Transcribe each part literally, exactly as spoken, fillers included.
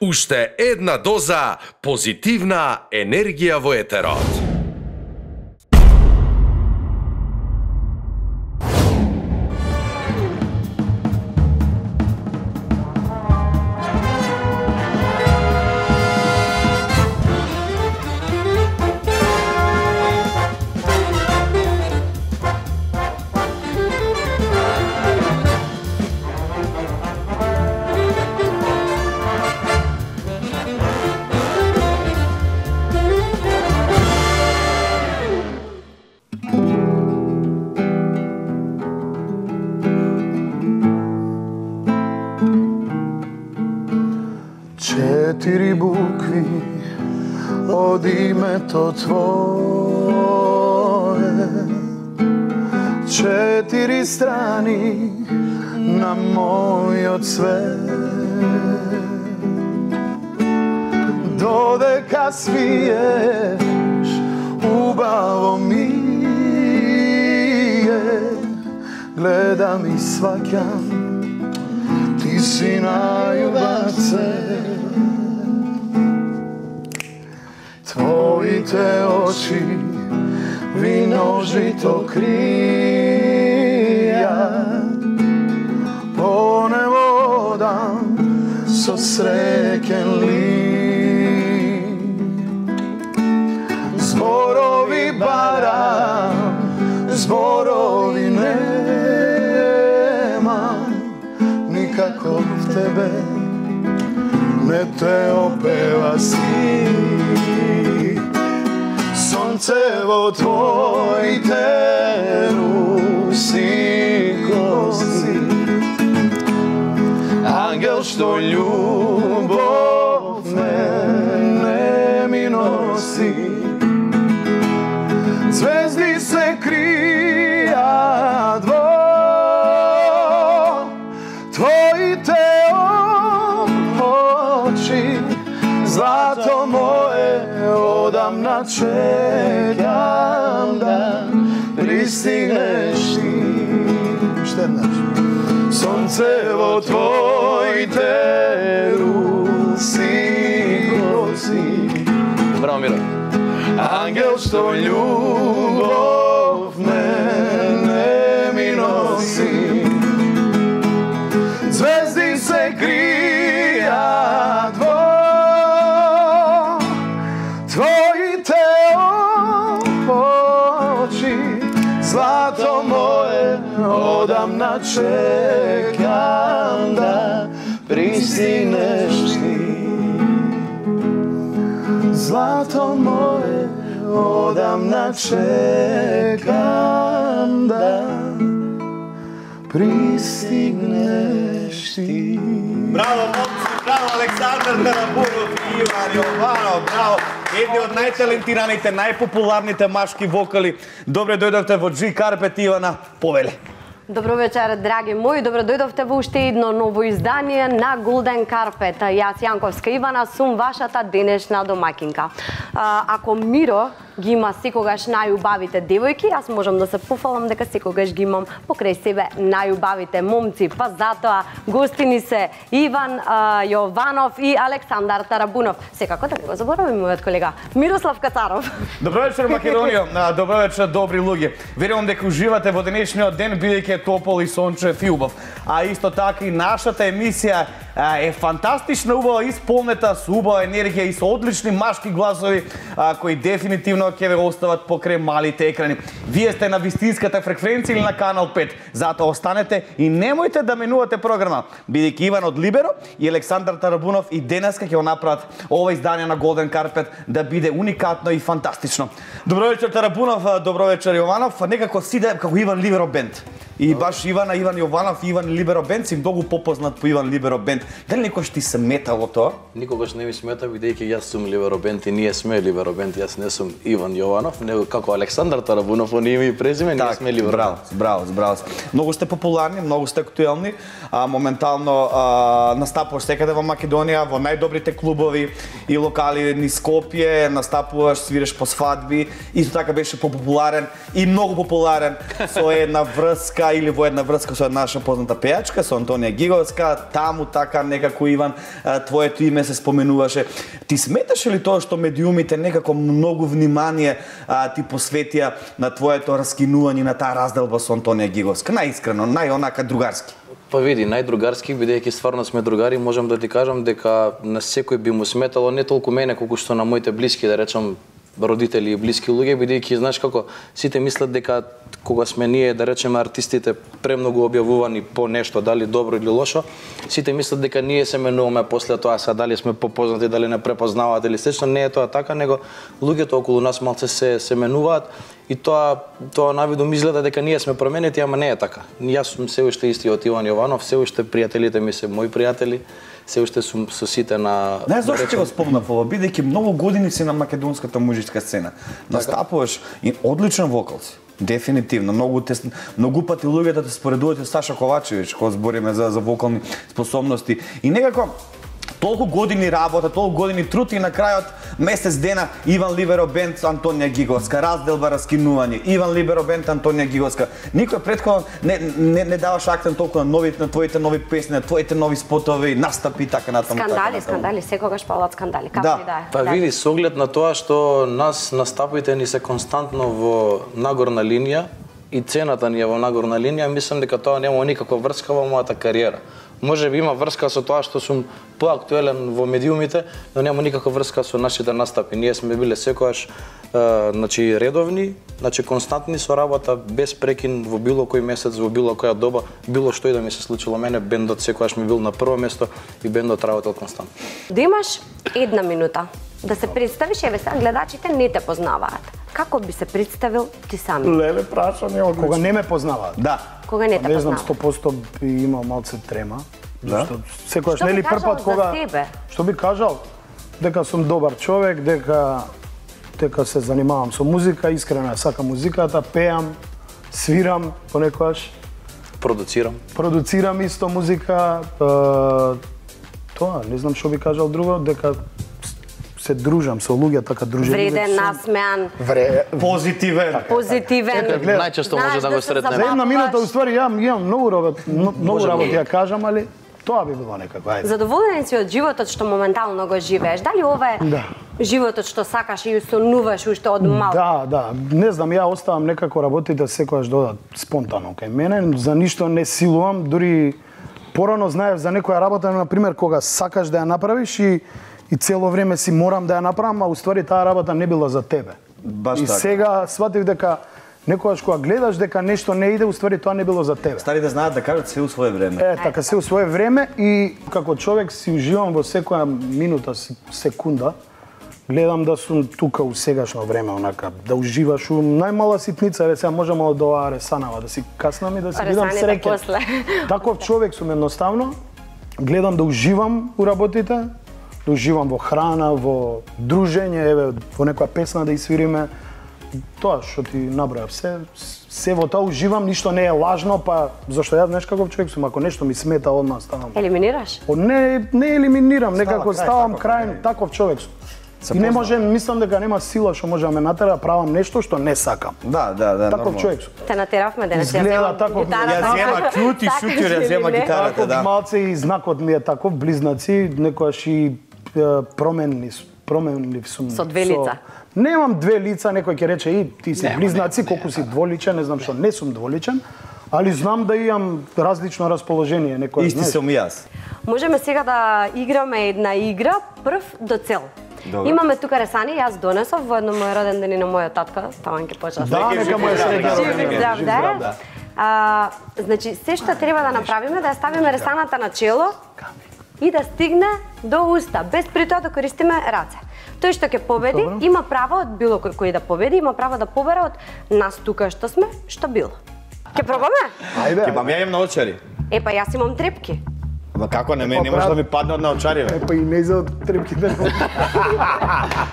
Уште една доза позитивна енергија во етерот. Четири букви од името Твое, четири страни на мојот свет. Додека свиеш, убаво ми е, гледам и сваќам, ти си најубав цвет. Твоите очи виножито кријат, по небо одам со среќен лик. Зборови барам, зборови немам, никако в тебе не те опева си. Сонце во твоите руси коси, ангел што љубов мене ми носи. Звезди се кријат во твоите очи, злато мое одамна чекам да пристигнеш ти. Уште еднаш. Сонце во твоите руси коси. Браво, Миро. Ангел што љубов мене ми носи. Звезди се кријат во твоите очи, злато мое одамна чекам да пристигнеш ти. Злато мое одамна чекам да пристигнеш ти. Браво, момци, браво, Александар Тарабунов и Иван Јованов, браво. Едни од најталентираните, најпопуларните машки вокали. Добре дојдовте во G Carpet, Ивана, повеле. Добро вечер, драги мои. Добро дојдовте во уште едно ново издание на Golden Carpet. Јас, Јанковска Ивана, сум вашата денешна домакинка. Ако Миро ги има секогаш најубавите девојки, јас можам да се пофалам дека секогаш ги имам покрај себе најубавите момци. Па затоа гостини се Иван Јованов и Александар Тарабунов. Секако да не го забораваме мојот колега Мирослав Кацаров. Добро вечер, Македонија. Добро вечер, добри луѓе. Верувам дека уживате во денешниот ден, бидејќи е топол и сончев и убав. А исто така и нашата емисија е фантастична, убава, исполнета со убава енергија и со одлични машки гласови кои дефинитивно ќе ве остават покрај малите екрани. Вие сте на вистинската фреквенција или на канал пет. Затоа останете и немојте да менувате програма, бидејќи Иван од Либеро и Александар Тарабунов и денеска ќе го направат ова издание на Golden Carpet да биде уникатно и фантастично. Добро вечер, Тарабунов, добро вечер, Јованов. Некако сиде како Иван Либеро бенд. И баш Ивана, Иван Јованов и Иван Либеро бенд си многу попознат по Иван Либеро бенд. Дали некојаш ти се метало тоа? Никогаш не ми смета, бидејќи јас сум Либеро бенд и ние сме Либеро бенд. Јас не сум Иван Јованов, него како Александар Тарабунов, он име и презиме, ние сме Либеро бенд. Браво, браво, браво. Многу сте популарни, многу сте актуелни. А, моментално а, настапуваш секаде во Македонија, во најдобрите клубови и локали низ Скопје, настапуваш, свириш по свадби. Исто така беше популарен и многу популарен со една врска така или во една врска со наша позната пејачка, со Антонија Гиговска, таму така некако Иван, твоето име се споменуваше. Ти сметаше ли тоа што медиумите некако многу внимание а, ти посветија на твоето раскинување на таа разделба со Антонија Гиговска? Најискрено, најонака другарски. Па види, најдругарски, бидејќи стварно сме другари, можам да ти кажам дека на секој би му сметало не толку мене колку што на моите блиски, да речам родители и блиски луѓе, бидејќи знаеш како сите мислат дека кога сме ние, да речеме артистите, премногу објавувани по нешто, дали добро или лошо, сите мислат дека ние се менуваме после тоа, са дали сме попознати, дали не препознаваат или слично, не е тоа така, него луѓето околу нас малце се се менуваат и тоа тоа навидум изгледа дека ние сме променети, ама не е така. Јас сум се уште истиот Иван Јованов, се уште пријателите ми се мои пријатели, се уште сум со сите на... Не, зашто ќе го спомнав ова, бидејќи многу години си на македонската музичка сцена. Настапуваш и одличен вокал си. Дефинитивно, многу те, многу пати луѓето те споредуваат со Саша Ковачевиќ, кога збориме за за вокални способности. И некако толку години работа, толку години труд и на крајот месец дена Иван Ливеро бенд Антонија Гиговска, разделба, раскинување, Иван Ливеро бенд Антонија Гиговска. Никој претходно не, не, не даваш акцент толку на нови, на твоите нови песни, на твоите нови спотови, настапи и така натаму. Скандали, скандали, секогаш палат скандали, како Да. и да е. Па види, со оглед на тоа што нас настапите ни се константно во нагорна линија и цената ни е во нагорна линија, мислам дека тоа нема никаква врска во мојата кариера. Може би има врска со тоа што сум поактуелен во медиумите, но нема никаква врска со нашите настапи. Ние сме биле секогаш е, значи редовни, значи константни со работа, без прекин во било кој месец, во било која доба, било што и да ми се случило мене, бендот секогаш ми бил на прво место и бендот работел константно. Да имаш една минута да се представиш, еве сега гледачите не те познаваат. Како би се представил ти сами? Леле прашање, од кога не ме познаваат. Да. Кога не те Не знам, познаваат? сто проценто би имал малце трема. Да? Зашто секогаш Што би нели кажал прв пат за кога себе? што би кажал дека сум добар човек, дека дека се занимавам со музика, искрено ја сакам музиката, пеам, свирам понекогаш, Продуцирам. продуцирам исто музика, е, тоа, не знам што би кажал друго, дека се дружам со луѓе, така дружелив Вреден, сум. насмеан, Вре, Позитивен. позитивен. Најчесто може Знаеш да да го се сретнеме. За една Забавуваш. минута уствари јам имам многу работи, многу Можеме. работи ја кажам, али тоа би било некако, ајде. Задоволен си од животот што моментално го живееш? Дали ова е Да. животот што сакаш и сонуваш уште од мал? Да, да, не знам, ја оставам некако работите секогаш додат спонтано кај мене, за ништо не силувам, дури порано знаев за некоја работа, на пример, кога сакаш да ја направиш и и цело време си морам да ја направам, а уствари таа работа не била за тебе. Баш и така. сега сватив дека некогаш кога гледаш дека нешто не иде, уствари тоа не било за тебе. Старите знаат да кажат се у свое време. Е, така се у свое време и како човек си уживам во секоја минута, се- секунда. Гледам да сум тука у сегашно време, онака, да уживаш у најмала ситница, еве сега може мало до оваа ресанава, да си каснам и да си бидам Ресаните среќен. после. Таков човек сум едноставно, гледам да уживам у работите, да уживам во храна, во дружење, еве, во некоја песна да испириме. Тоа што ти набројав, се, се во тоа уживам, ништо не е лажно, па зашто јас знаеш каков човек сум, ако нешто ми смета, одмah ставам. Елиминираш? О, не, не елиминирам, некако крај, ставам таков, крај, не. таков човек сум. Се И не познава. можем, мислам дека нема сила што може да ме натера да правам нешто што не сакам. Да, да, да. Таков нормално. човек сум. Те натеравме денес. Изгледа Ја земам тако, гитарата. ја зема клют и Сакаш шутир, ја или зема не? гитара. Таков да. малце и знакот ми е таков, близнаци, некојаш и е, променни, с- променлив сум. Со две лица. Немам две лица, некој ќе рече и ти си близнаци, колку си дволичен, не знам што, не сум дволичен, али знам да имам различно расположение, некој. Исти сум и јас. Можеме сега да играме една игра прв до цел. Добро. Имаме тука ресани, јас донесов во едно мој роден ден и на мојот татка, таман ќе почнеш. Да, нека му е среќен Жив роден и ден, здрав жив да е. здрав, да. А, значи, се што треба да направиме да ја ставиме ресаната на чело и да стигне до уста, без при тоа да користиме раце. Тој што ќе победи, Добро. има право од било кој кој да победи, има право да побере од нас тука што сме, што било. Ќе пробаме? Ајде, Ќе бам ја имам на очари. Е, па јас имам трепки. Ама како не, ме, Па, не може брат. да ми падне од на очари, бе. Е, па и не за трепките.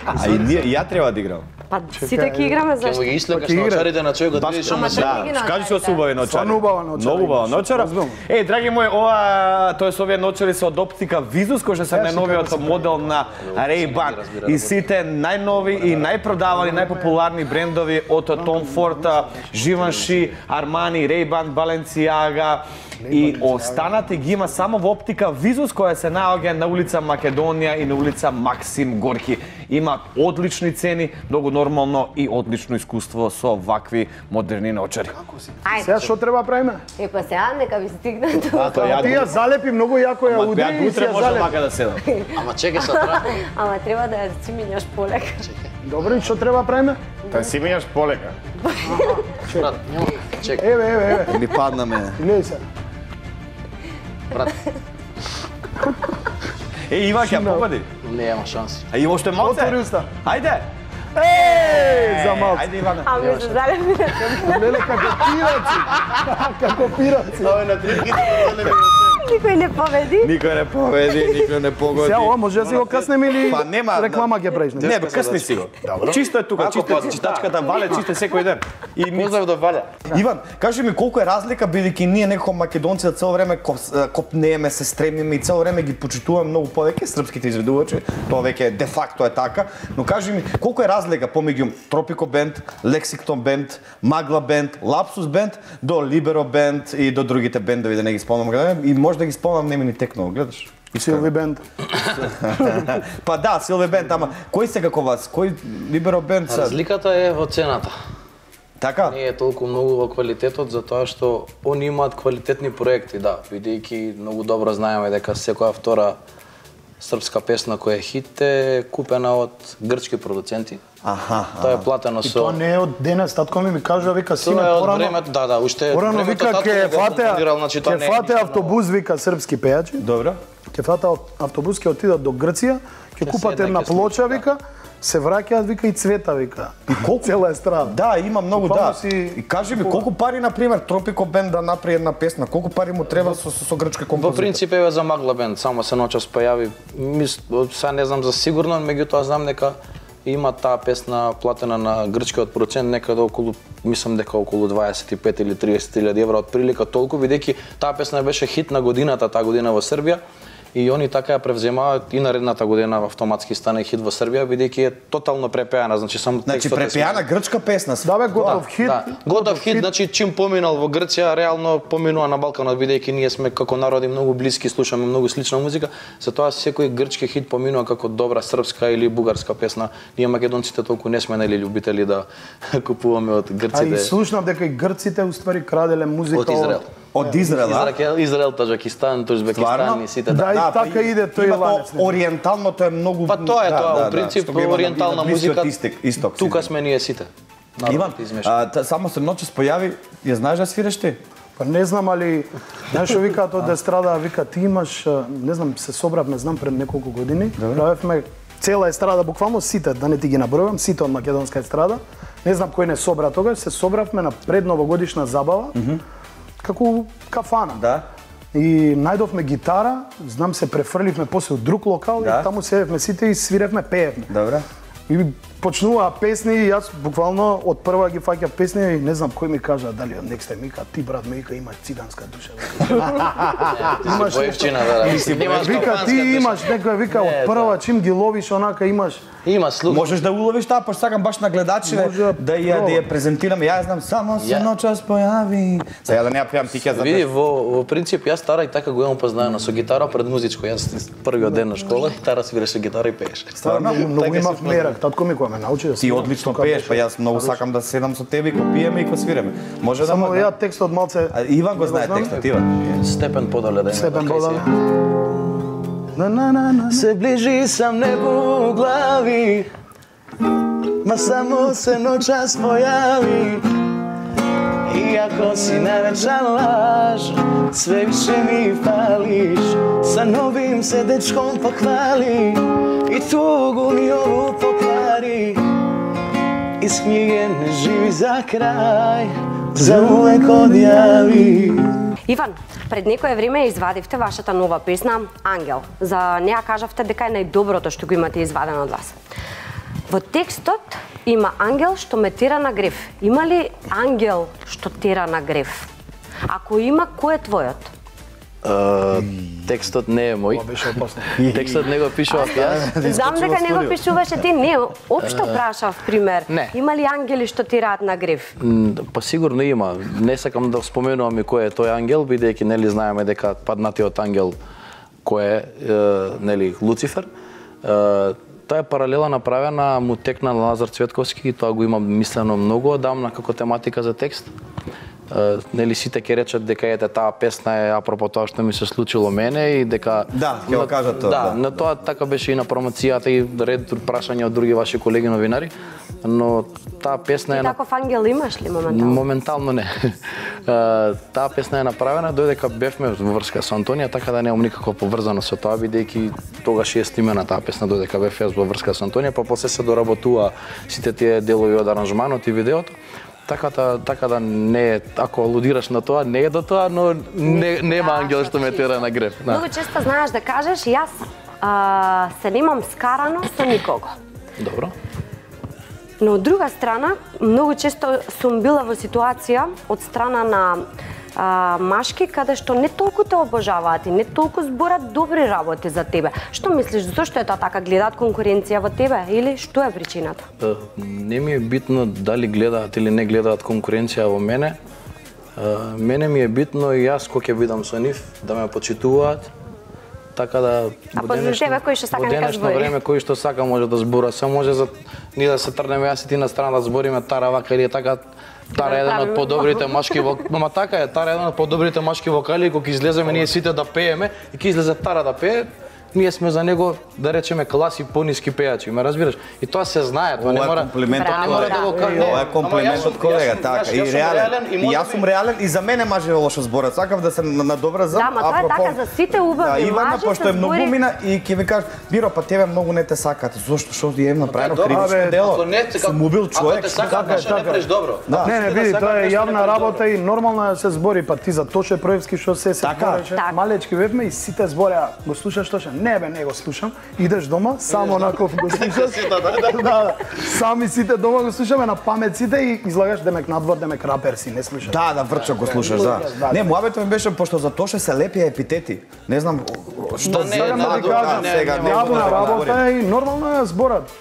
А и ние- и ја треба да играм. Па сите ќе играме Ќе му зашто? ги ислекаш Па ќе игра. научарите на човекот, видиш Ама што тоа се. ги Да, кажи што се научарите. убави ночари. Стварно убава ночари. Многу убава ночара. Разбирам. Е, драги мои, ова тоа се овие ночари се од оптика Visus, кој што се најновиот модел на Ray-Ban. И сите најнови и најпродавани, најпопуларни брендови од Tom Ford, Givenchy, Armani, Ray-Ban, Balenciaga и останати ги има само во оптика Visus, која се наоѓа на улица Македонија и на улица Максим Горки. Има одлични цени, многу нормално и одлично искуство со вакви модерни ночари. Сега Ајде. што треба правиме? Е, па сега нека ви стигне тоа. Тоа ја Ти ја залепи многу јако ја Ама удари ја и си утре ја може залепи. мака да седам. Ама чекај се тра. Ама треба да ја си минјаш полека. Добро, и што треба правиме? Та си минјаш полека. Брат, нема. Чекај, Еве, еве, еве. Ми падна мене. Гледај се. брат. Е, Иван, ќе попади. Нема шанси. А има уште малце? Отвори уста. Ајде. Еј, за малце. Ајде, Иване. А ми се залепи. Леле, како пираци. Како пираци. Никој не победи. Никој не победи, никој не погоди. Сега ова може да си го каснеме или Па нема, реклама ќе правиш? Не, бе, късни си го. Чисто е тука, чисто е читачката вале, чисто е секој ден. И ми Поздрав до Валя. Иван, кажи ми колку е разлика бидејќи ние некако македонци цело време кос- копнееме, се стремиме и цело време ги почитуваме многу повеќе српските изведувачи. Тоа веќе де факто е така, но кажи ми колку е разлика помеѓу Тропико бенд, Лексиктон бенд, Магла бенд, Лапсус бенд до Либеро бенд и до другите бендови да не ги спомнам каде и може да ги спомнам не ми ни текнало, гледаш? Силви бенд. Па да, Силве бенд, ама кој се како вас? Кој Либеро бенд се? Разликата е во цената. Така? Не е толку многу во квалитетот, затоа што они имаат квалитетни проекти, да, бидејќи многу добро знаеме дека секоја втора српска песна која е хит е купена од грчки продуценти. Аха. Тоа е платено И со... тоа не е од денес, татко ми ми кажа, вика, сине, Тоа е од порано, времето, да, да, уште порано времето вика, татко ке го компонирал, фате, значи тоа ке не е фате ништо автобус, вика, српски пејачи, Добро. ке фате автобус, ке отидат до Грција, ке купат седнат, една ке плоча, слушаат, вика, се враќаат, вика, и цвета, вика. И колку цела естрада. Да, има многу, Буквално да. си И кажи ми колку пари на пример Тропико бенд да направи една песна, колку пари му треба со со, со грчка Во композитор? принцип еве за Магла бенд, само се ноќас појави, мис, сега не знам за сигурно, меѓутоа знам дека има таа песна платена на грчкиот процент некаде околу, мислам дека околу дваесет и пет или триесет илјади евра, од прилика толку, бидејќи таа песна беше хит на годината таа година во Србија. И они така ја превземаат и наредната година автоматски стане хит во Србија, бидејќи е тотално препеана, значи само Значи текстот е препеана смислен. грчка песна. Да, бе, готов хит. Да, готов хит, значи чим поминал во Грција, реално поминува на Балканот, бидејќи ние сме како народи многу блиски, слушаме многу слична музика, затоа секој грчки хит поминува како добра српска или бугарска песна. Ние македонците толку не сме нели љубители да купуваме од А и грците. слушнав дека и грците уствари краделе музика Од Израел. Од Израел, а? Израел, Израел, Таджикистан, Турзбекистан Стварно? и сите. Да, и па така иде тој има ланец. тоа ориенталното е многу. Па тоа е да, тоа, да, во принцип што го има на- ориентална на Блискиот музика. Исток, исток. Тука си. сме ние сите. Иван, Народот измешан. а, та, само се ноќес појави, ја знаеш да свириш ти? Па не знам, али знаеш што викаат од естрада, вика ти имаш, а, не знам, се собравме, знам пред неколку години, правевме цела естрада, буквално сите, да не ти ги набројувам, сите од македонска естрада. Не знам кој не собра тогаш, се собравме на предновогодишна забава, како кафана. Да. И најдовме гитара, знам се префрливме после од друг локал Да. и таму седевме сите и свиревме, пеевме. Добре. И почнуваа песни и јас буквално од прва ги фаќав песни и не знам кој ми кажа дали од next time вика ти брат ме вика имаш циганска душа. Имаш боевчина, да, да. Немаш Вика калпанска ти душа. имаш некоја вика од прва чим ги ловиш онака имаш. Има слух. Можеш да уловиш таа, пошто сакам баш на гледачите Може да да ја да ја презентираме. Ја знам само се Ја- ноќас појави. Сега да не ја пеам ти ќе Види, запеш. во, во принцип, јас Тара и така го имам познаено со гитара пред музичко. Јас првиот ден на школа и Тара свиреше гитара и пееше. Стварно многу Така имав се мерак, татко ми кој ме научи да Ти свирам, одлично тука пееш, беше. па јас многу сакам да седам со тебе и ко пиеме и ко свиреме. Може да Само ма- ја текстот малце. А, Иван го не знае знам. текстот, Иван. Степен подале да Степен Бодале. На на на на. Се ближи сам небо глави, ма само се ноќас појави. Иако си навечан лаж, све више ми фалиш. Sa novim se dečkom pokvali i tugu mi ovu pokvari. Iz knjige ne živi za kraj, za uvek odjavi. Иван, пред некое време извадивте вашата нова песна Ангел. За неа кажавте дека е најдоброто што го имате извадено од вас. Во текстот има ангел што ме тера на грев. Има ли ангел што тера на грев? Ако има, кој е твојот? Uh, текстот не е мој. Текстот не го пишував јас. Знам дека не го пишуваше ти, не, општо прашав пример. Не. Има ли ангели што тираат на грев? Па сигурно има. Не сакам да споменувам и кој е тој ангел, бидејќи нели знаеме дека паднатиот ангел кој е, е нели Луцифер. Е, таа е паралела направена, му текна на Лазар Цветковски и тоа го има мислено многу одамна како тематика за текст. Uh, нели сите ќе речат дека ете таа песна е апропо тоа што ми се случило мене и дека Да, ќе го кажат тоа. Да, да. на тоа така беше и на промоцијата и ред прашања од други ваши колеги новинари, но таа песна е Ти таков ангел имаш ли моментално? Моментално не. uh, таа песна е направена додека бевме во врска со Антонија, така да немам никако поврзано со тоа бидејќи тогаш е снимена таа песна додека бев јас во врска со Антонија, па после се доработува сите тие делови од аранжманот и видеото. Така да, така да не е, ако алудираш на тоа, не е до тоа, но не, нема ангел што ме тера на грев. Да. Многу често знаеш да кажеш, јас а, се немам скарано со никого. Добро. Но од друга страна, многу често сум била во ситуација од страна на а, машки каде што не толку те обожаваат и не толку зборат добри работи за тебе. Што мислиш, зошто е тоа така? Гледаат конкуренција во тебе или што е причината? Е, Не ми е битно дали гледаат или не гледаат конкуренција во мене. Е, Мене ми е битно и јас кога ќе бидам со нив да ме почитуваат. Така да А во позади денешно- тебе кој што сака во нека денешно збори. време кој што сака може да збора, се може за ние да се трнеме јас и ти на страна да збориме тара вака или така. Тара е еден од правиме. подобрите машки вокали. Ма така е, Тара е еден од подобрите машки вокали и кога ќе излеземе ние сите да пееме и ќе излезе Тара да пее, ние сме за него да речеме класи пониски пејачи, ме разбираш? И тоа се знае, тоа не Ова е мора. комплимент Браво, од Не мора да го колега. кажа. Ова е комплимент Ама јас од сум- колега, јас сум- така. јас- И јас сум реален. реален и И јас може сум би- реален и за мене маже лошо зборат. Сакав да се надобразам. Да, ма тоа е така, за сите убави Да, Ивана, мажи пошто се е многу збори- мина и ќе ви кажа, Биро, па тебе многу не те сакат. Зошто? Што ти е направено Добро, кривично бе, дело? Ако не те Сум убил човек. Ако те сакат, така е, нешто не така е. правиш добро. Да. Не, не, види, тоа е јавна работа и нормално е да се збори, па ти за Тоше Проевски што се се Така. збореше, Така. малечки бевме и сите збореа, го слушаш Тоше? Не бе, не го слушам. Идеш дома, само онаков го слушаш. Да, да. Сами сите дома го слушаме на памет сите и излагаш демек надвор, демек рапер си, не слушаш. Да, да, врчо го слушаш, да. Да, Не, да. муабето ми беше пошто за Тоше се лепија епитети. Не знам што Да, не, Сакам да да, ви да, кажам, не, сега не, не, јавна да работа е и нормално е зборат.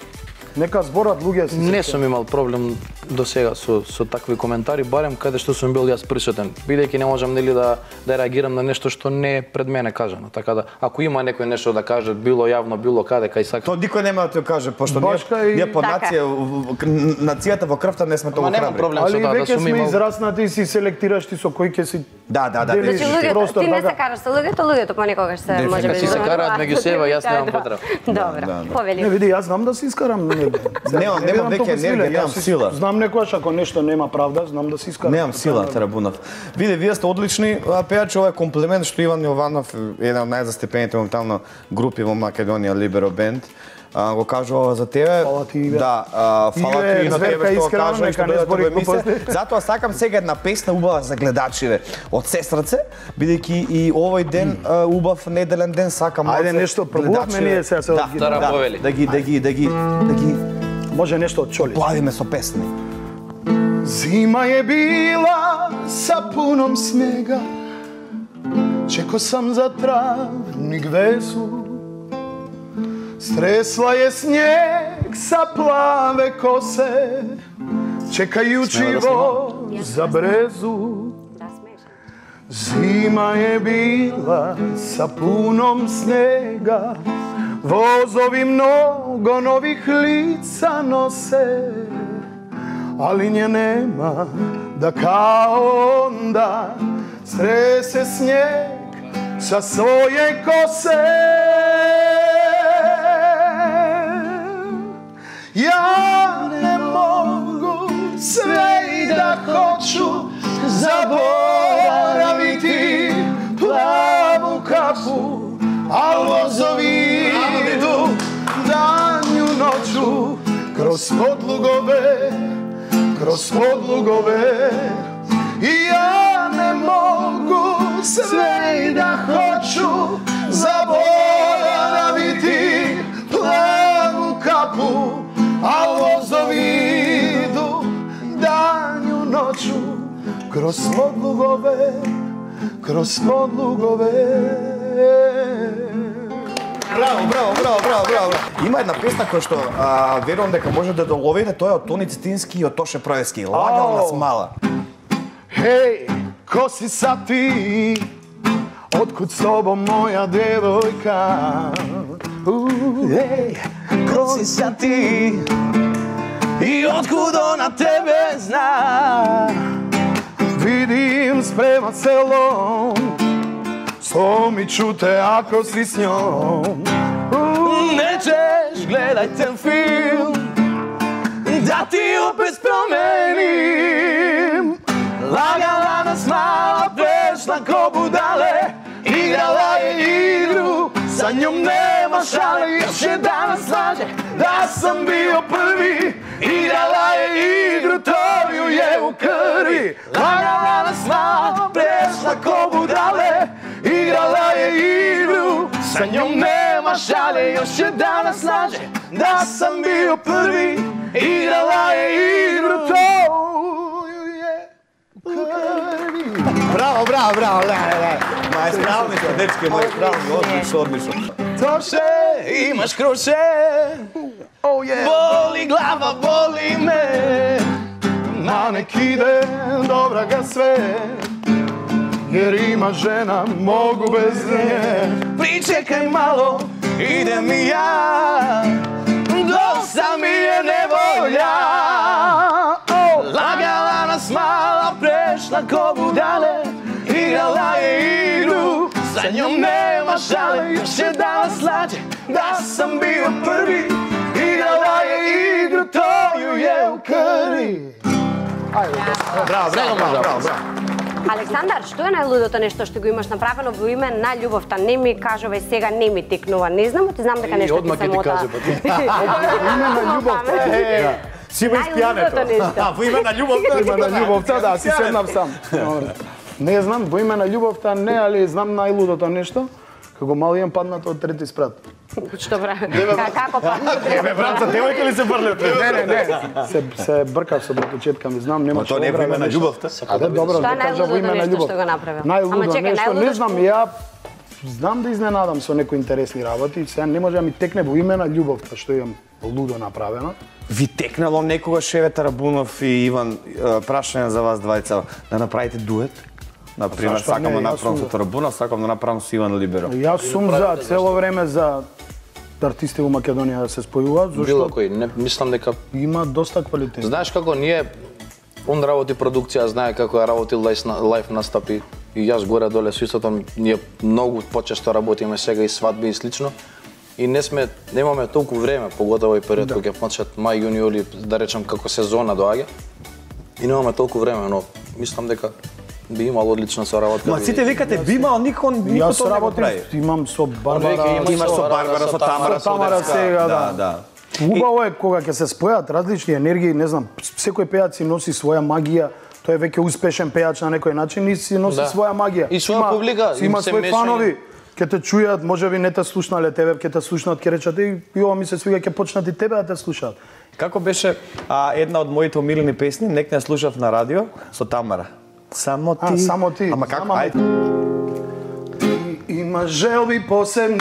Нека зборат луѓе си. Не сум имал проблем до сега со со такви коментари, барем каде што сум бил јас присутен, бидејќи не можам нели да да реагирам на нешто што не е пред мене кажано. Така да ако има некој нешто да каже, било јавно, било каде, кај сака. Тоа никој нема да ти го каже, пошто Башка ние, и- ние по Така. нација, в- в- нацијата во крвта не сме толку Ама немам храбри. проблем со Али тоа да веќе сум сме имал. израснати и си селектираш ти со кој ќе си Да, да, да. делиш Значи луѓето, простор, ти не се така. караш со луѓето, луѓето понекогаш се Дефинитивно. може би Си се караат меѓу себе, јас немам потреба. Добро, Да, да. Не повели. види, јас знам да се искарам. Не, Немам- не немам бидам веќе толку енергија, силен, немам јас си- сила. Знам некојаш ако нешто нема правда, знам да се искарам. Немам сила, Тарабунов. Види, вие сте одлични а, пејачи, ова е комплимент што Иван Јованов, еден од најзастепените моментално групи во Македонија, Libero Band, а, го кажува за тебе. Фала ти, Иве. Да, а, фала Иве, ти и на зверка тебе што го искрена, кажува и нека што не дојдете збори во емисија. глупости. Затоа сакам сега една песна убава за гледачиве од сестраце, бидејќи и овој ден а, убав неделен ден сакам Ајде, малце нешто пробувавме гледачиве. ние сега се да, одги- Тара да, повели. да ги да ги да ги да ги Може нешто од Чоли. плавиме со песни. Зима е била са пуном снега, чеко сам за травник весу. Стресла е снег са плаве косе, чекајучи во за брезу. Да, смеш. Зима е била са пуном снега, возови много нових лица носе, ali nje nema da kao onda strese snijeg sa svoje kose. Ja ne mogu sve i da hoću zaboraviti plavu kapu, al vozovi idu danju noću kroz podlugove, kroz podlugove. I ja ne mogu sve i da hoću zaboraviti plavu kapu, a Кроз подлугове, кроз подлугове. Браво, браво, браво, браво, браво. Има една песна која што а, верувам дека може да доловите, тоа е од Тони Цетински и од Тоше Праевски. Лагал нас мала. Хеј, ко си са ти? Откуд с тобом моја девојка? Хеј, ко си са ти? И откуд на тебе зна? Видим спрема селом, со ми чуте ако си с њом. Не чеш, гледај ten филм, да ти опет променим. Лагала нас мала, прешла ко будале, играла е игру, sa njom nema šale, još je danas laže da sam bio prvi. Igrala je igru, to ju je u krvi. Lagala nas mala, prešla ko budale. Igrala je igru, sa njom nema šale, još je danas laže da sam bio prvi. Igrala je igru, to ju je u krvi. Браво, браво, браво, леле, леле. Маестралничко, дечки мои, правилно, одлично, одлично. Тоше, имаш круше, боли глава, боли ме, на neki ден добра га све, jer ima žena, mogu bez nje. Pričekaj malo, idem i ja, dosta mi je nevolja. Lagala nas mala, prešla ko budale, igrala je igru, sa njom nema šale, još je danas lađe da sam bio prvi. Igrala je igru, to ju je u krvi. Браво, браво, браво, браво, браво. Александар, што е најлудото нешто што го имаш направено во име на љубовта? Не ми кажувај сега, не ми текнува. Не знам, ти знам дека нешто ти се мота. Име на љубовта. Си ме испијането. Во име на љубовта. Име на љубовта, да, си седнав сам. Не знам, во име на љубовта не, али знам најлудото нешто. Како мал имам паднато од трети спрат. Што прави? Како паднато? Еве, братца, девојка ли се врли од Не, не, не. Се се бркав со братучетка ми, знам, нема тоа не е во име на љубовта. Аде, добро, Што е да кажа во име најлудото на нешто љубов. што го направил? Најлудо Ама чекај, нешто, не најлудото знам, ја знам да изненадам со некои интересни работи, сега не може да ми текне во име на љубовта, што имам лудо направено. Ви текнало некогаш Еве Тарабунов и Иван, прашање за вас двајца, да направите дует? Например, Зашто сакам не, да јас направам сум со Тарабунов, сакам да направам со Иван Либеро. Јас сум за цело време за артисти во Македонија да се спојуваат, Било зашто кој, не, мислам дека има доста квалитет. знаеш како ние он работи продукција, знае како ја работи лајф настапи и јас горе доле со истото, ние многу почесто работиме сега и свадби и слично. И не сме, немаме толку време, поготово и период кога ќе почнат мај, јуни, јули, да речем како сезона доаѓа. И немаме толку време, но мислам дека би имало одлична соработка. Ма сите викате би имал, никој никој Јас тоа не го работим, прави. имам со Барбара, Имаш со Барбара, со Тамара, со Тамара сега, да, да. да. Убаво е кога ќе се спојат различни енергии, не знам, секој пејац си носи своја магија. Тој е веќе успешен пејач на некој начин и си носи Да. своја магија. И своја Има- публика, си има им се свои мешање. фанови. Ќе те чујат, можеби не те слушнале тебе, ќе те слушнат, ќе речат и и ова ми се свига, ќе почнат и тебе да те слушаат. Како беше а, една од моите омилени песни, нек не слушав на радио со Тамара. Само ти. А, само ти. Ама како? Само Ајде. Ти има желби посебни,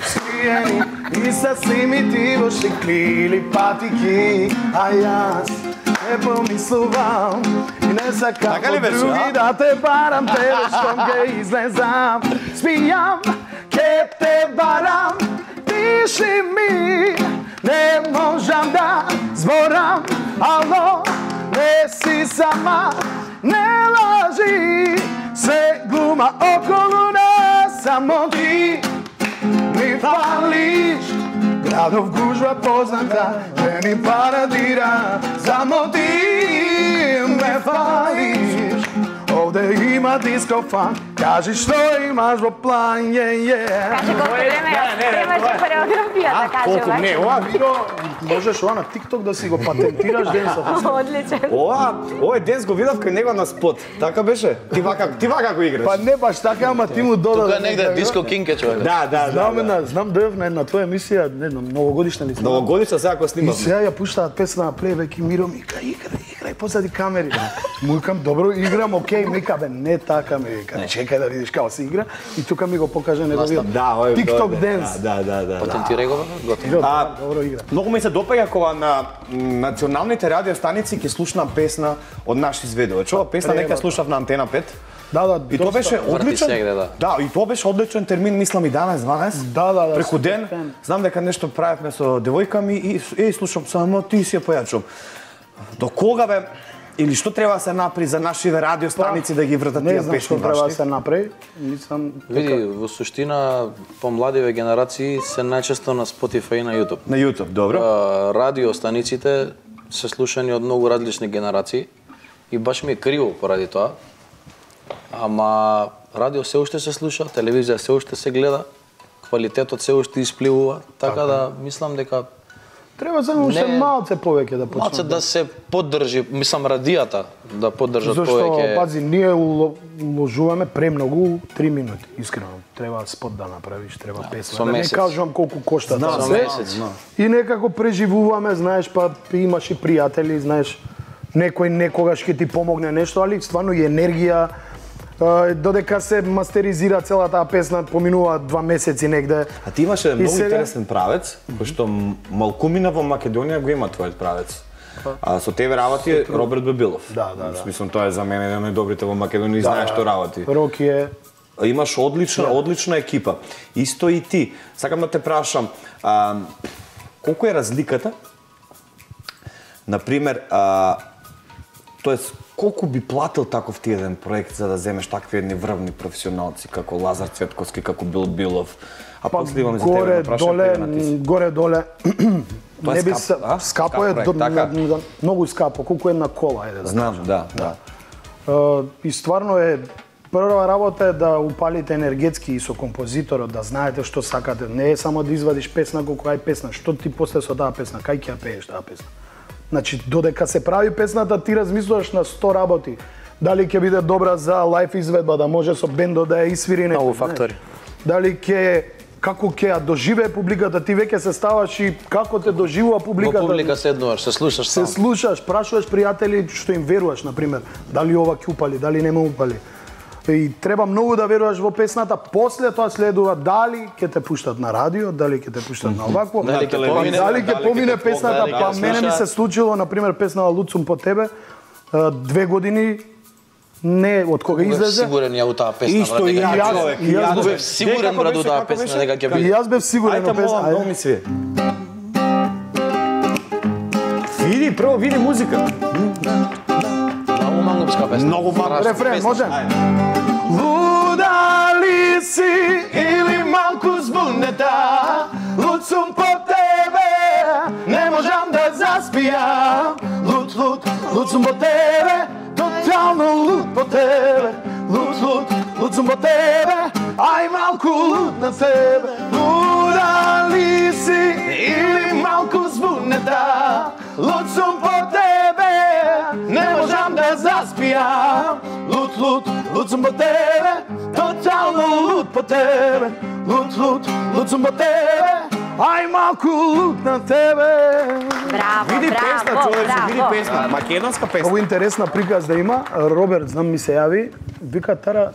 скриени и сасвим и ти во шекли или патики, а јас не помислувам и не сакам Така ли од беше, други а? да те барам, тебе штом ке излезам, спијам, ке те барам, пиши ми, не можам да зборам, ало, не си сама, не лажи, се глума околу нас, само ти ми фалиш. Градов гужва позната, не ни парадира, само ти ме фалиш. Овде има дискофан, кажи што имаш во план, е, е. Каже колку време имаше хореографија, да Колку кажеме. не, ова видео можеш ова на TikTok да си го патентираш денсот. Одличен. Ова, овој денес го видов кај него на спот. Така беше? Ти вака, ти вака го играш. Па не баш така, ама ти му додаде. Тука негде диско кинг е човек. Да, да, да. Знам, да. една, знам дојав на една твоја емисија, не знам, новогодишна ли сме? Новогодишна сега кој И снимав. сега ја пуштаат песна на плейбек и Миро ми ка играј, играј позади камери. Му викам, добро, играм, окей, ми вика, бе, не така ми вика. Чекај да видиш како се игра и тука ми го покажа неговиот Да, овој TikTok денс. Да, да, да. Патентирај го, готово. Добро, А, добро игра. Многу ми се допаѓа кога на националните радиостаници ќе слушнам песна од наш изведувач. Ова песна нека слушав на Антена пет. Да, да, И тоа беше Врти одличен. сегде, да. Да, и тоа беше одличен термин, мислам и еданаесет дванаесет. Да, да, да. Преку ден, фен. знам дека нешто правевме со девојка ми и е слушам само ти си ја појачувам. До кога бе или што треба да се направи за нашиве радиостаници да ги вртат Не тие знам песни што треба да ваши? се направи. Мислам, Види, во суштина, помладиве генерации се најчесто на Spotify и на YouTube. На YouTube, добро. А, радиостаниците се слушани од многу различни генерации и баш ми е криво поради тоа. Ама радио се уште се слуша, телевизија се уште се гледа, квалитетот се уште испливува, така да мислам дека треба само уште Не. малце повеќе да почне. малце да се поддржи, мислам радијата да поддржат Зашто, повеќе. пази, ние уло- уложуваме премногу три минути, искрено. Треба спот да направиш, треба со песна. Да не месец. кажувам колку кошта Знам, тоа со се. месец. И некако преживуваме, знаеш, па имаш и пријатели, знаеш, некој некогаш ќе ти помогне нешто, али стварно и енергија. Е, додека се мастеризира целата таа песна, поминува два месеци негде. А ти имаше многу сега- интересен правец, кој што м- малкумина во Македонија го има твојот правец. А со тебе работи Роберт Бебилов. Да, да, да. Мислам, тоа е за мене еден од најдобрите во Македонија и знаеш што работи. Роки е Имаш одлична, одлична екипа. Исто и ти. Сакам да те прашам, а, колку е разликата? Например, а, тоест, колку би платил таков ти еден проект за да земеш такви едни врвни професионалци како Лазар Цветковски, како Бил Билов? А па после имам за тебе горе да прашам доле, тебе на ти. горе доле. Тоа е Не би скап, се, а? скапо Скап е проект, до, така? на- на- многу скапо, колку една кола е да Знам, да, да. Uh, и стварно е прва работа е да упалите енергетски и со композиторот, да знаете што сакате. Не е само да извадиш песна колку ај песна, што ти после со таа песна, кај ќе ја пееш таа песна. Значи, додека се прави песната, ти размислуваш на сто работи. Дали ќе биде добра за лајф изведба, да може со бендо да ја исвири некој. Многу фактори. Дали ќе како ќе ја доживее публиката, ти веќе се ставаш и како те доживува Во публиката. публика седнуваш, се слушаш Се сам. слушаш, прашуваш пријатели што им веруваш, например, дали ова ќе упали, дали нема упали. И треба многу да веруваш во песната, после тоа следува дали ќе те пуштат на радио, дали ќе те пуштат на овакво, Дали ќе помине, дали ќе дали помине ќе те песната, дали ќе па ја мене ми слуша. се случило, например, песна Луцум по тебе, а, две години не од кога Бев излезе. сигурен ја у таа песна, Исто брат, и дека ја, ќе биде. човек, и јас и бев Бев сигурен, брат, у таа песна дека ќе И биде. јас бев сигурен Ајде, во песна. молам, многу ми свие. Види, прво види музика. Многу мангупска песна. Многу мангупска Страшна Рефрен, песна. може? Луда ли си или малку збунета? Луд сум по тебе, не можам да заспијам. Луд, луд, луд сум по тебе, тотално луд по тебе. Луд, луд, луд сум по тебе, ај малку луд на тебе. Луда ли си или малку збунета? Луд сум по тебе, не можам да заспијам. Луд, луд, луд сум по тебе, тотално луд по тебе. Луд, луд, луд сум по тебе, ај малку луд на тебе. Браво, Види песна, браво, човече, види браво. песна. Македонска песна. Много интересна приказ да има. Роберт, знам, ми се јави, вика Тара,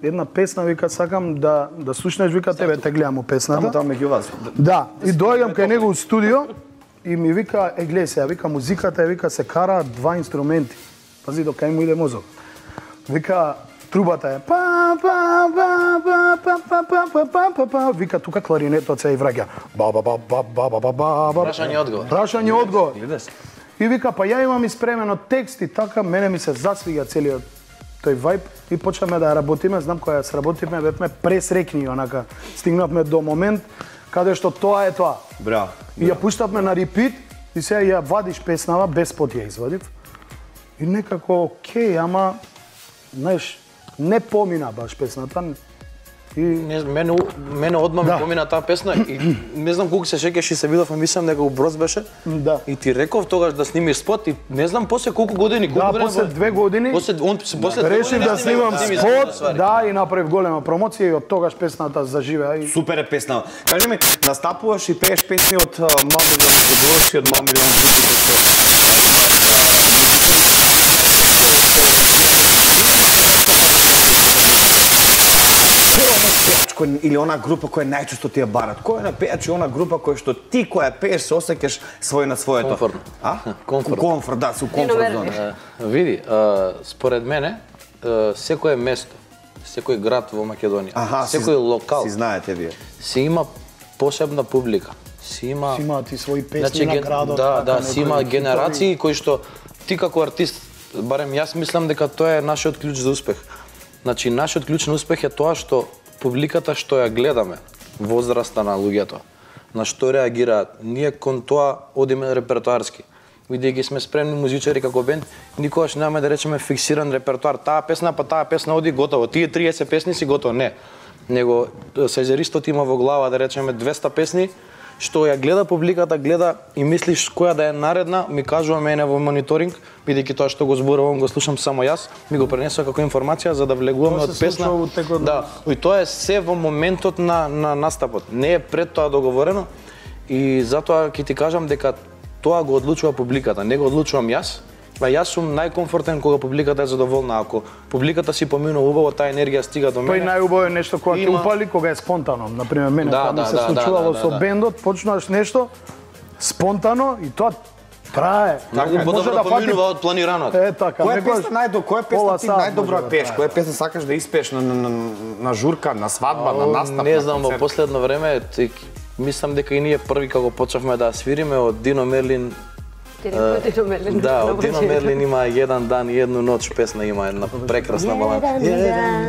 една песна, вика, сакам да да слушнеш, вика, тебе те гледам у Тамо песната. таму меѓу вас. Да, и доаѓам кај него у студио и ми вика, е гледај се, вика, музиката е, вика, се кара два инструменти. Пази, до кај му иде мозок. Вика, трубата е па па па па па па па па па па па, вика, тука кларинетот се и враќа. Ба ба ба ба ба ба ба ба ба. Прашање одговор. Прашање одговор. И вика, па ја имам испремено текст и така, мене ми се засвига целиот тој вајб и почнаме да работиме, знам кога ја сработивме, бевме пресрекни, онака, стигнавме до момент каде што тоа е тоа. Браво. И ја пуштавме на репит и сега ја вадиш песнава, без спот ја извадив. И некако, окей, ама, знаеш, не помина баш песната. И Не, мене, мене одма ми Да. помина таа песна и не знам колку се шеќаш и се видовме, мислам дека у Броз беше. Да. И ти реков тогаш да снимиш спот и не знам после колку години, колку да, време. после две години После он после две решив години да снимам сними спот, ствари. да, и направив голема промоција и од тогаш песната заживеа и Супер е песна. Кажи ми, настапуваш и пееш песни од Мамилион Годовски, од Мамилион Жупите, што Кој или она група која најчесто ти ја барат? Кој е на пејач и она група која што ти која пееш се осеќаш свој на своето? Комфортно. А? Комфорт. Комфорт, да, со комфорт зона. Е, Види, а, според мене, е, секое место, секој град во Македонија, Аха, си- секој локал Си знаете вие. си има посебна публика. Си има Си имаат и своји песни Значи, на ген- градот. Да, така, да, некои си има хитови. генерации кои што ти како артист, барем јас мислам дека тоа е нашиот клjuč за успех. Значи, нашиот клjuč на успех е тоа што публиката што ја гледаме, возраста на луѓето, на што реагираат, ние кон тоа одиме репертоарски. Бидејќи сме спремни музичари како бенд, никогаш немаме да речеме фиксиран репертоар. Таа песна, па таа песна оди готово. Тие триесет песни си готово, не. Него сајзеристот има во глава да речеме двеста песни, што ја гледа публиката, гледа и мислиш која да е наредна, ми кажува мене во мониторинг, бидејќи тоа што го зборувам го слушам само јас, ми го пренесува како информација за да влегуваме Тоа од се песна. случува во текот на- Да, и тоа е се во моментот на на настапот. Не е пред тоа договорено и затоа ќе ти кажам дека тоа го одлучува публиката, не го одлучувам јас. Па јас сум најкомфортен кога публиката е задоволна. Ако публиката си поминува убаво, таа енергија стига до Па и мене. најубаво е нешто кога ќе Има- упали, кога е спонтано. Например, мене Да, кога ми да, се да, случувало да, да, со да. бендот, почнуваш нешто спонтано и тоа трае. Многу Може подобро да фати- поминува од планираното. Е така, Која некогаш песна најдо, која пола песна ти сат најдобро може ја да пееш? трае. Која песна сакаш да испееш на, на, на, на журка, на свадба, на настап? Не на знам, во концерт? последно време тик, мислам дека и ние први како почнавме да свириме од Дино Мерлин. Дино Мерлин. Да, од Дино Мерлин има еден дан и едну ноќ песна, има една прекрасна балада.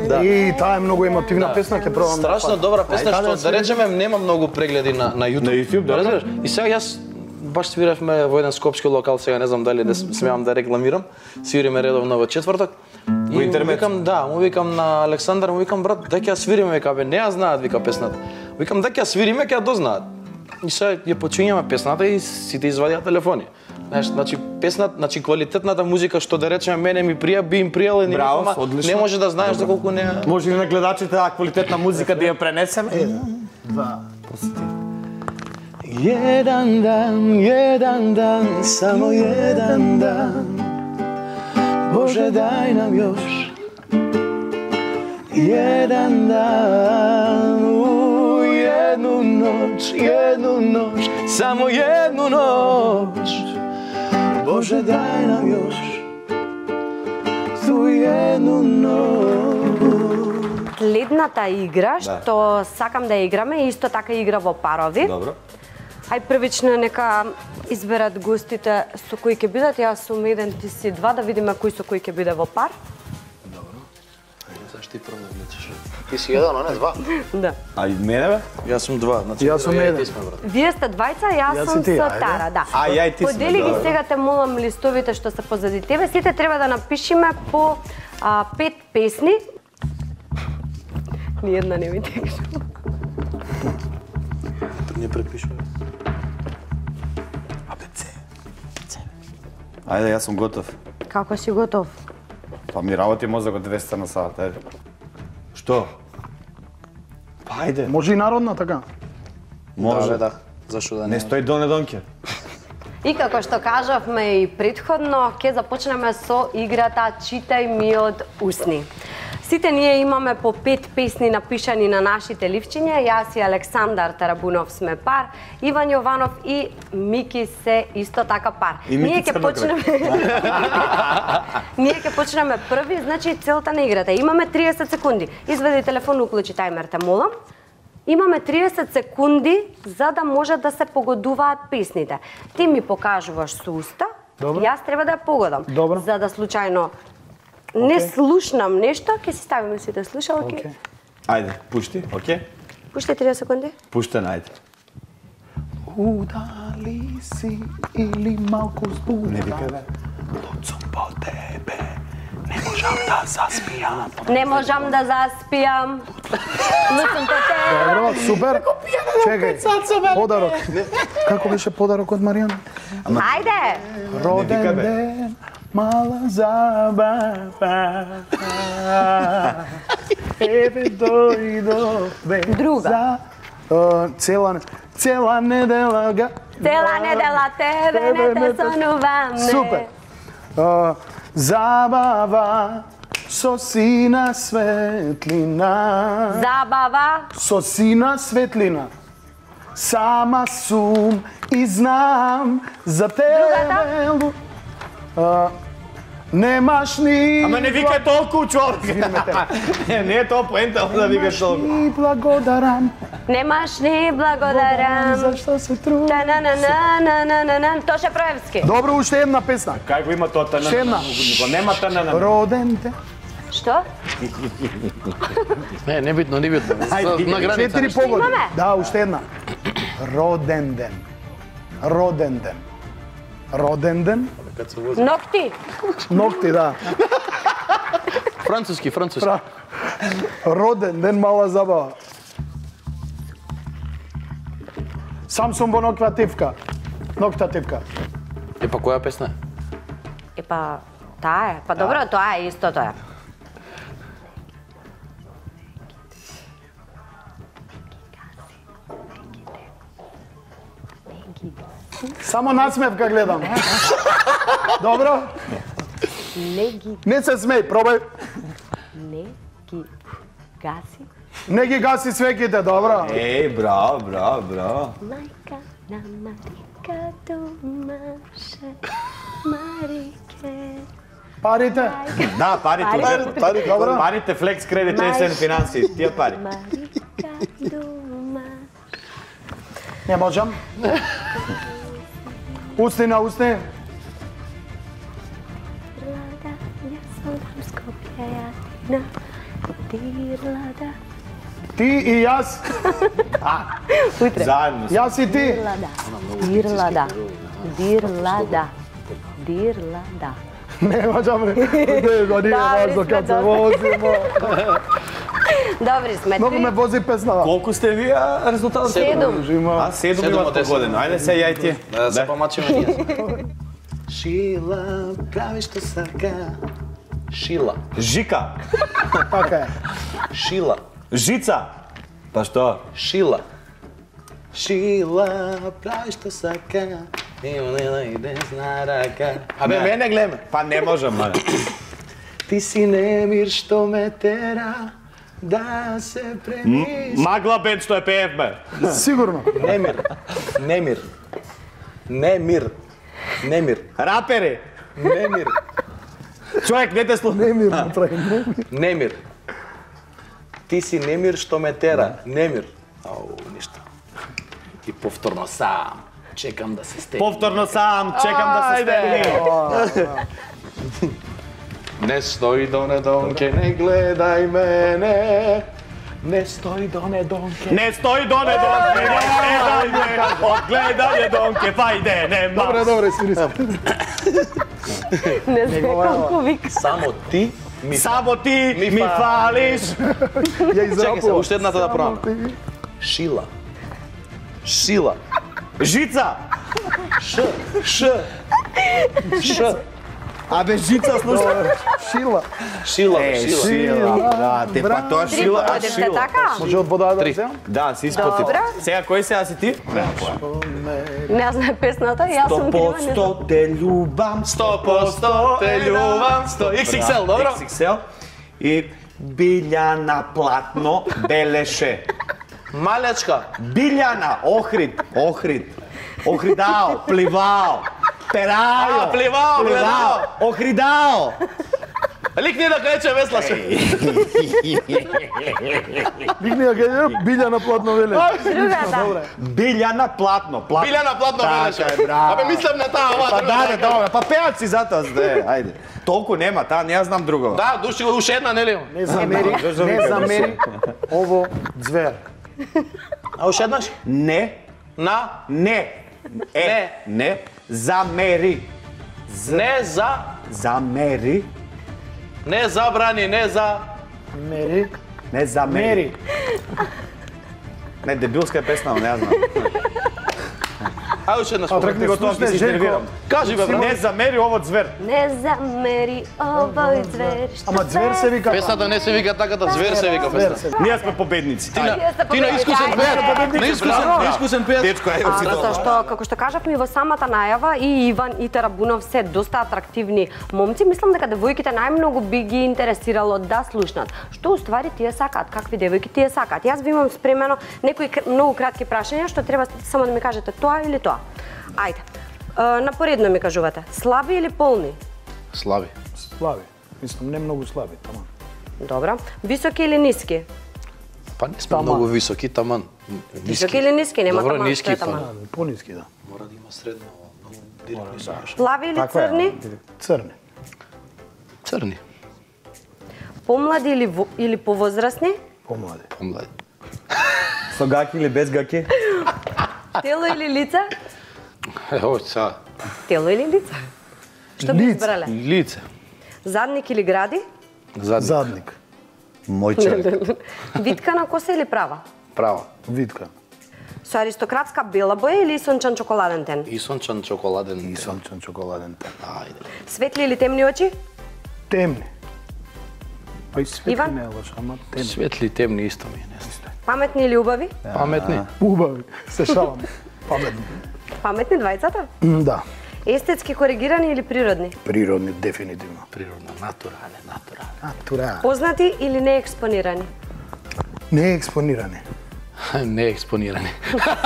Да. И таа е многу емотивна песна, ќе пробам. да Страшно фатам. добра песна Ајде, што да да свириш. речеме нема многу прегледи на на YouTube. На YouTube, да. Разбираш? И сега јас баш свиревме во еден скопски локал, сега не знам дали да смеам да рекламирам. Свириме редовно во четврток. И интернет? му викам, да, му викам на Александар, му викам брат, дај ќе ја свириме, вика бе, не ја знаат вика песната. Викам дај ќе ја свириме, ќе ја дознаат. И сега ја почињаме песната и сите извадија телефони. Знаеш, значи песната, значи квалитетната музика што да речеме мене ми прија, би им пријала и Браво, ама одлично. не може да знаеш доколку не. Може ли на гледачите таа квалитетна музика да ја пренесеме? Jedan dan, jedan dan, samo jedan dan. Bože daj nam još jedan dan, u jednu noć, jednu noć, samo jednu noć. Bože daj nam još tu jednu noć. Следната игра што сакам да ја играме е исто така игра во парови. Добро. Ај првично нека изберат гостите со кои ќе бидат. Јас сум еден, ти си два, да видиме кој со кој ќе биде во пар. Зашто ти прво влечеш? Ти си еден, а не два. Да. А и мене бе? Јас сум два, значи Јас сум ја и еден. ти сме, брат. Вие сте двајца, јас, Јас сум и ти, со ајде. Тара, да. А, ја и ти сме, Подели ги добро. сега, те молам листовите што се позади тебе. Сите треба да напишеме по а, пет песни. Ниједна не ми текше. Не препишуваме. Ајде, јас сум готов. Како си готов? Па ми работи мозокот двеста на сат, ајде. Што? Па ајде. Може и народна така. Може. Да, бе, да. Зашо да Не не? стои долне донке. И како што кажавме и предходно, ќе започнеме со играта Читај ми од усни. Сите ние имаме по пет песни напишани на нашите ливчиња. Јас и Александар Тарабунов сме пар, Иван Јованов и Мики се исто така пар. И Мики Ние ќе Црнокрај. почнеме Ние ќе почнеме први, значи целта на играта. Имаме триесет секунди. Извади телефон, уклучи тајмер, те молам. Имаме триесет секунди за да може да се погодуваат песните. Ти ми покажуваш со уста, Добро. јас треба да ја погодам. Добро. За да случајно не слушнам нешто, ќе си ставиме сите слушалки. Океј. Ајде, пушти, окей? Пушти триесет секунди. Пуште, најде. Удали си или малку збунета. Не викај бе. Луцум по тебе, не можам да заспијам. Не можам да заспијам. Луцум по тебе. Добро, супер. Чекај, подарок. Како беше подарок од Маријана? Ајде! Роден викај, бе. ден, мала забава. Ебе дојдове. Друга. За а, цела цела недела га. Цела недела тебе не те сонувам. Супер. А, Забава со сина светлина. Забава. Со сина светлина. Сама сум и знам за тебе. Другата? А, немаш ни... Ама не викај толку, човек. Не, не е тоа поента, да викаш толку. Ни благодарам. Немаш ни благодарам. Зашто се трудиш? Та-на-на-на-на-на-на-на. Тоша Проевски. Добро, уште една песна. Кај го има тоа тана? Ще една. Нема тана. Роден те. Што? Не, небитно, небитно. На граница. Четири нешто. погоди. Имаме. Да, уште една. Роден ден. Роден ден. Роден ден. Ногти. Ногти, да. Француски, француски. Пра- Роден ден, мала забава. Сам сум во ноква тивка. Нокта тивка. Е, па која песна е? Епа, таа е. Па добро, тоа е истото е. Само насмевка гледам. Добро? Не ги, Не се смеј, пробај. не ги гаси. Не ги гаси свеките, добро? Еј, браво, браво, браво. Мајка на Марика домаше, Марике. Парите? Да, парите. Парите. Парите, Добро. парите, флекс кредит, чесен финанси, тие пари. Марика дома. Не можам. Усни на усни. Лада, ја солдам Скопје, ја Дирлада. Ти и јас. Заедно. Јас и ти. Дирлада. Дирлада. Дирлада. Дирлада. Не можам. Не, да nije важно kad se vozimo. Добри сме. Многу ме Три, вози песнава. Колку сте вие резултатот? седум. А, седум Седум имат од по десет. година. Ајде се јај ти. Да се помачиме ние. Шила, прави што сака. Шила. Жика, Така е. Шила. жица. Па што? Шила. Шила, прави што сака. И онена и десна рака. Абе, мене глеме. Па не можам, мале. Ти си немир што ме тера да се премиш. Магла бенд што е пеевме. Сигурно. Немир. Немир. Немир. Немир. Рапери. Немир. Човек, не те слуша. Не ми направи. Не ми. Немир. Ти си немир што ме тера. Немир. Ау, ништо. И повторно сам. Чекам да се стегне. Повторно сам, чекам да се стегне. Не стои до недонке, не гледај мене. Не стои до недонке. Не стои до не донке, не гледај ме. Одгледај донке, вајде, нема. Добре, добре, свири се. Не знам колку вика. Само ти ми Само ти Ми ми фалиш. фалиш. Ја Чекай се, израпувам. уште едната да пробам. Шила. Шила. Жица. Ш. Ш. Ш. Абе, жица, слушай. Шила. Шила, бе, шила. Шила, брате, па тоа Три шила, а погодивте, шила. така? Може од вода да Три. вземам? Да, си испоти. Добро. Сега, кој сега си ти? Не знам песната, јас сум крива. не знам. те љубам, сто посто те љубам, сто икс икс ел, добро? икс икс ел. И Билјана платно белеше. Малечка. Билјана, Охрид, Охрид. Охридао, пливао. Перајо. А, пливао, гледао. Охридао. Ликни да клече веслаше. Дигни ја кај билја на платно веле. Другата. Билјана платно, платно. Билјана платно Така велеше. е, браво. Абе, мислам на таа, ова. Па друга да, нека. да, па пеат си затоа, де, ајде. Толку нема, таа не ја знам друго. Да, души го уште една, нели? Не замери, не замери ово звер. А уште еднаш? Не, На, не. Е, не, замери. не за, Замери, не забрани, не за... Мери. не замери. Мери. Не, дебилска е песна, но не ја знам. Ајде уште една Отрекни го тоа, ќе се нервирам. Кажи бе, брат. Не замери ово звер. Не замери овој звер. Ама звер се вика. Песната не се вика така, да звер се вика песната. Ние сме победници. Ти на ти на искусен пеец. На искусен, на искусен пеец. Дечко, ајде А, си затоа тоа. што, како што кажавме во самата најава, и Иван и Тарабунов се доста атрактивни момци. Мислам дека девојките најмногу би ги интересирало да слушнат. Што уствари тие сакаат, какви девојки тие сакаат. Јас ви имам спремено некои многу кратки прашања што треба само да ми кажете тоа или тоа. Ајде. Напоредно ми кажувате. Слаби или полни? Слави. Слаби. Мислам, не многу слаби, таман. Добро. Високи или ниски? Па не сме многу високи, таман. Високи или ниски? Нема Добро, таман, ниски, што е па. таман. Пониски, да. Мора да има средно, многу директно се. Плави или црни? Црни. Црни. Помлади или во- или повозрасни? Помлади. Помлади. Со гаки или без гаки? Тело или лице? Ево, са. Тело или лице? Што би Лице. избрале? Лице. Задник или гради? Задник. Задник. Мој човек. Витка на коса или права? Право. Витка. Со аристократска бела боја или сончан чоколаден тен? И сончан чоколаден. И сончен чоколаден тен. Ајде. Светли или темни очи? Темни. Па и светли Иван? не е лош, ама темни. Светли и темни исто ми е, не знам. Паметни или убави? Паметни. Убави. Се шалам. Паметни. Паметни двајцата? М, Да. Естетски коригирани или природни? Природни, дефинитивно. Природна, натурален, натурален. Натура. Познати или неекспонирани? Не е експонирани. Не експонирани.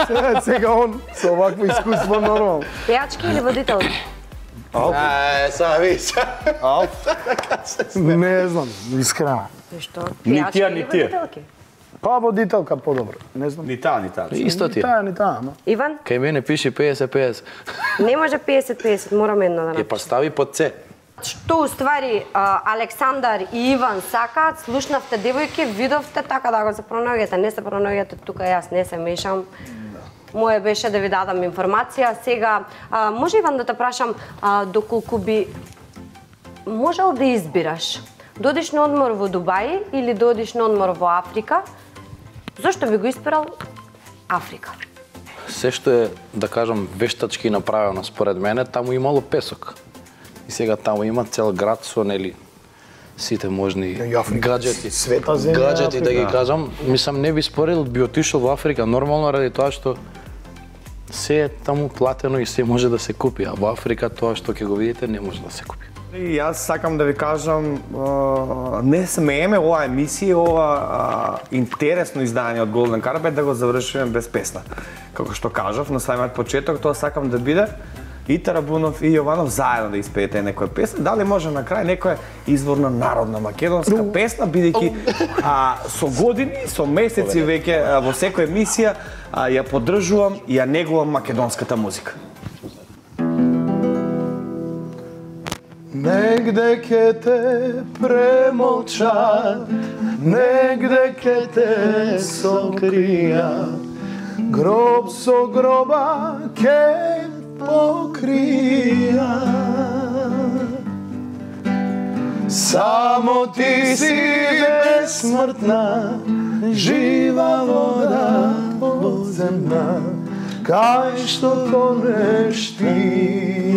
Сега, сега он со овакво искуство нормално. Пејачки или водителки? Ај, са виж. Не знам, искрено. Ништо. Ни Пејачки тие, или ни тие. водителки? Па водителка подобро. Не знам. Ни таа, ни таа. Исто ти. Ни таа, ни таа, ама. Иван? Кај мене пише петдесет петдесет. Не може петдесет петдесет, морам едно да Е, напишам. па стави под С. Што уствари а, Александар и Иван сакаат, слушнавте девојки, видовте така да го се пронаоѓате, не се пронаоѓате тука, јас не се мешам. Моje беше да ви дадам информација. Сега, а, може Иван да те прашам, а, доколку би можел да избираш, додиш на одмор во Дубај или додиш на одмор во Африка, зошто би го избирал Африка? Се што е, да кажам, вештачки направено според мене, таму имало песок. И сега таму има цел град со, нели, сите можни И Африка, гаджети. света земја, Гаджети, да ги Африка. кажам. Мислам, не би спорил, би отишол во Африка, нормално ради тоа што се е таму платено и се може да се купи, а во Африка тоа што ќе го видите не може да се купи. И јас сакам да ви кажам, а, не смееме ова емисија, ова а, интересно издание од Golden Carpet да го завршиме без песна. Како што кажав на самиот почеток, тоа сакам да биде и Тарабунов и Јованов заедно да испеете некоја песна. Дали може на крај некоја изворна народна македонска песна, бидејќи а, со години, со месеци веќе а, во секоја емисија а, ја поддржувам и ја негувам македонската музика. Негде ке те премолчат, негде ке те сокријат, гроб со гроба ке покријат. Само ти си безсмртна, жива вода подземна, кај што тонеш ти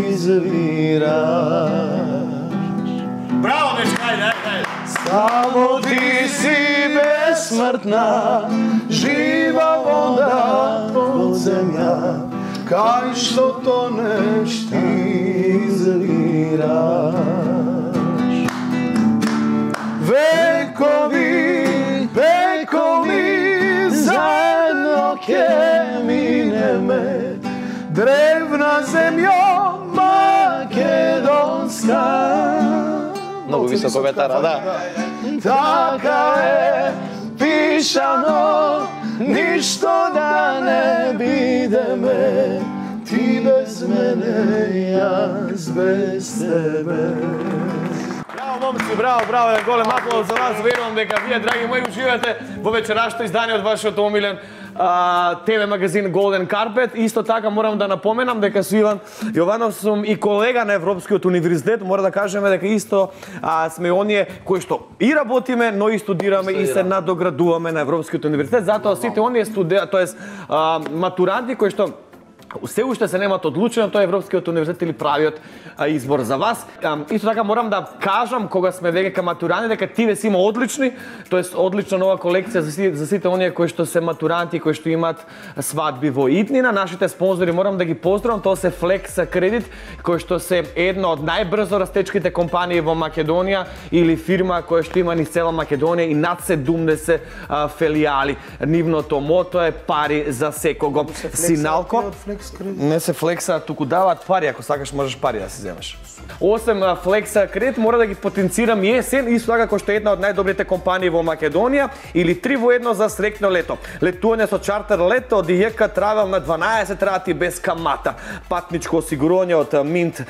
извираш. Браво, дечка, ајде, ајде. Само ти си безсмртна, жива вода подземја, кај што тонеш ти извираш. Векови, векови, заедно ке минеме, древна земја македонска. Многу високо ветара, да. Така е пишано, ништо да не бидеме, ти без мене, јас без тебе. Браво, момци, браво, браво, еден голем аплауз за вас. Верувам дека вие, драги мои, уживате во вечерашното издание од вашиот омилен а, Т В магазин Golden Carpet. Исто така морам да напоменам дека со Иван Јованов сум и колега на Европскиот универзитет. Мора да кажеме дека исто а, сме оние кои што и работиме, но и студираме и се надоградуваме на Европскиот универзитет. Затоа сите оние студенти, тоест а, матуранти кои што Се уште се немат одлучено, тоа е Европскиот универзитет или правиот а, избор за вас. А, исто така морам да кажам, кога сме веќе ка матурани, дека тиве си има одлични, тоест одлична нова колекција за, си, за сите оние кои што се матуранти, кои што имат свадби во иднина. Нашите спонзори морам да ги поздравам, тоа се Flex Credit, кои што се една од најбрзо растечките компании во Македонија или фирма која што има низ цела Македонија и над седумдесет а, филијали. Нивното мото е пари за секого. Синалко не се флекса, туку даваат пари, ако сакаш можеш пари да си земеш. Осем Flex Credit мора да ги потенцирам и есен, исто така кој што е една од најдобрите компании во Македонија, или три во едно за среќно лето. Летување со чартер лето од ИЈК Travel на дванаесет рати без камата. Патничко осигурување од Mint,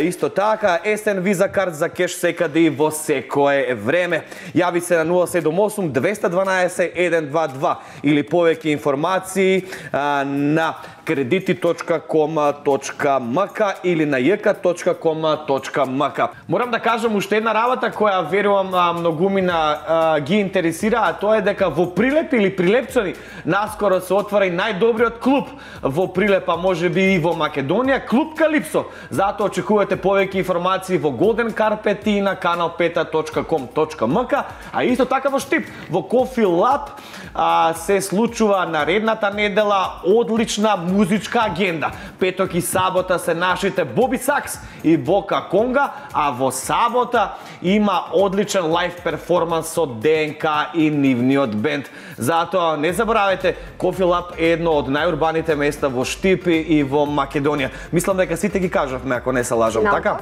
исто така, есен виза карт за кеш секаде и во секое време. Јави се на нула седум осум двеста дванаесет еден два два или повеќе информации а, на кредити точка ком точка ем ка или на j k точка ком точка ем ка. Морам да кажам уште една работа која верувам многумина а, ги интересира, а тоа е дека во Прилеп или Прилепчани наскоро се отвара и најдобриот клуб во Прилеп, а можеби и во Македонија, клуб Калипсо. Затоа очекувате повеќе информации во Golden Carpet и на канал пет точка ком точка ем ка, а исто така во Штип, во Coffee Lab а, се случува наредната недела одлична музичка агенда. Петок и сабота се нашите Боби Сакс и Бока Конга, а во сабота има одличен лайв перформанс со ДНК и нивниот бенд. Затоа не заборавајте, Coffee Lab е едно од најурбаните места во Штип и во Македонија. Мислам дека сите ги кажавме, ако не се лажам, така?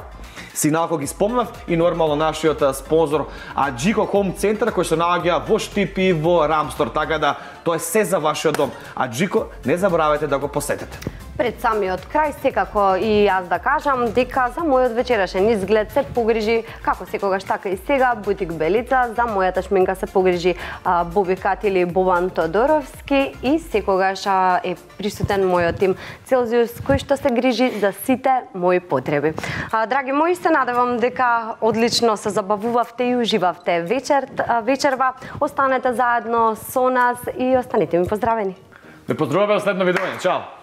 Синалко ги спомнав и нормално нашиот спонзор Аджико Home Center кој се наоѓа во Штип и во Рамстор, така да тоа е се за вашиот дом. Аджико, не заборавајте да го посетете. Пред самиот крај, секако и јас да кажам дека за мојот вечерашен изглед се погрижи, како секогаш така и сега, Бутик Белица, за мојата шминка се погрижи а, Боби Кат или Бобан Тодоровски и секогаш а, е присутен мојот тим Целзиус, кој што се грижи за сите мои потреби. А, драги мои, се надевам дека одлично се забавувавте и уживавте вечер, а, вечерва. Останете заедно со нас и останете ми поздравени. Ве поздравуваме во следно видење. Чао!